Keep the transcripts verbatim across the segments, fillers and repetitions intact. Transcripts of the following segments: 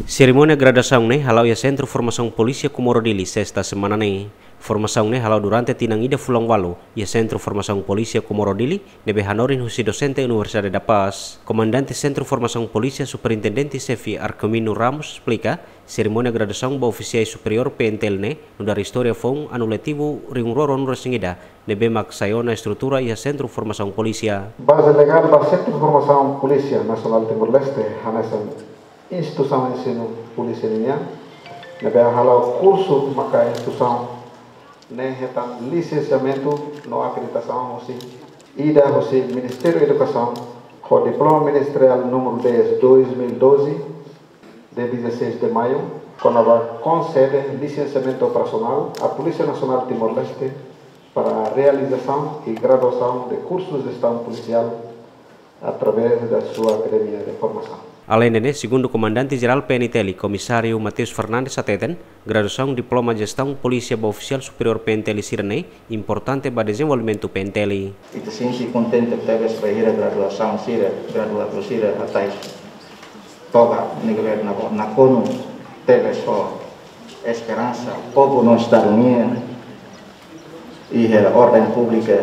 Serimónia graduasaun ne'e hala'o iha Sentru Formasaun Polísia Comoro Dili, sesta semana ne'e. Formasaun ne'e hala'o durante tinan ida fulan ualu iha Sentru Formasaun Polísia Comoro Dili, ne'ebé hanorin husi dosente Universidade da Paz. Komandante Sentru Formasaun Polísia, Superintendente Xefe Arquimino Ramos, esplika, serimónia graduasaun ba ofisiais superiór P N T L ne'e nu'udar istória foun anu letivu rihun rua ruanulu resin ida, ne'ebé mak sai ona estrutura iha Sentru Formasaun Polísia. Baze legál ba Sentru Formasaun Polísia Nasionál Timor-Leste hanesan instituisaun ensinu polísia nian, ne'ebé hala'o kursu maka instituisaun ne'e hetan lisensiamentu no akreditasaun husi ida husi Ministériu Edukasaun ho diploma ministeriál númeru dez dois mil e doze, de dezasseis de maio, kona-ba konsede lisensiamentu operasionál à Polísia Nasionál Timor-Leste para realizasaun i graduasaun de kursu jestaun polisiál através da sua akademia de formasaun. Aleinde ne'e, segundu Komandante Jerál P N T L, Komisáriu Mateus Fernandes hateten, graduasaun diploma jestaun polísia ba ofisiál superiór P N T L sira-ne'e importante ba dezenvolvimentu P N T L. Ita sente kontente tebes bainhira graduasaun sira, graduadu sira hatais toba ne'ebé nakonu tebes ho esperansa povu no Estadu nian iha orden públika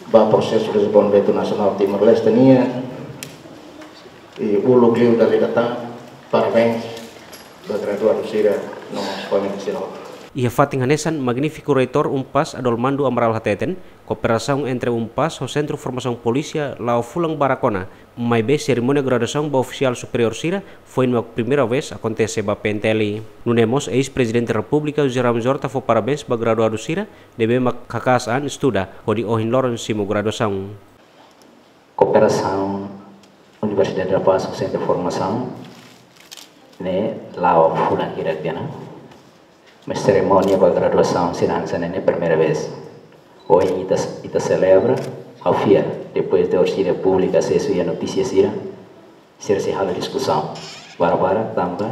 ba prosesu dezenvolvimentu nasionál Timor-Leste nian. I uluk liu dala ida tan, parabéns ba graduadu sira no mós família sira. Iha fatin hanesan, Magnífiku Reitór UNPAZ Adolmando Amaral hateten, kooperasaun entre UNPAZ ho Sentru Formasaun Polísia la'o fulan barak ona, maibé serimónia graduasaun ba ofisiál superiór sira foin mak primeira vez akontese ba P N T L. Nune'e mós eis-Prezidente Repúblika José Ramos Horta fó parabéns ba graduadu sira ne'ebé mak haka'as an estuda hodi ohin loron simu graduasaun. Kooperasaun Universidade da Paz ho Sentru Formasaun ne'e la'o fulan hirak tiha ona. Mas serimónia ba graduasaun sira hanesan ne'e primeira vez. Ohin ita, ita selebra, ha'u fiar, depois de orsida públika asesu iha notísia sira, sira sei halo diskusaun barak-barak tanba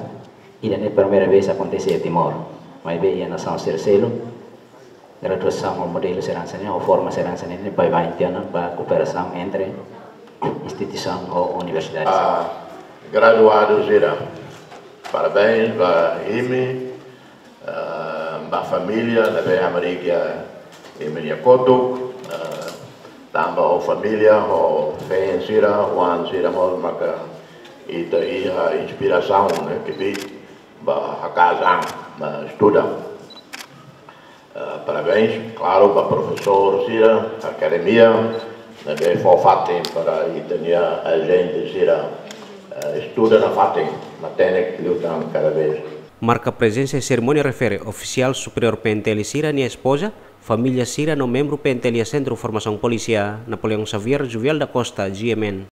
ida-ne'e primeira vez akontese iha Timor. Maibé iha nasaun sira seluk, graduasaun ho modelu sira hanesan ne'e, ho forma sira hanesan ne'e, baibain tiha ona ba kooperasaun entre instituisaun ho universidade. Ah, graduadu sira, parabéns ba imi, ah, ba família ne'ebé hamriik imi-nia kotuk, ah, tanba ho família, ho feen sira, oan sira mós maka ita iha inspirasaun, ne'e, kbiit ba haka'as an, ba estuda. Eh, parabéns, klaru, ba profesór sira, akademia, ne'ebé fó fatin para ita-nia ajente sira, eh, estuda nafatin, matenek liután kada vez. Marka prezensa iha serimónia refere ofisiál superiór P N T L sira-nia espoza, família sira no membru P N T L iha Sentru Formasaun Polísia. Napoleão Xavier, Juvial da Costa, G M N.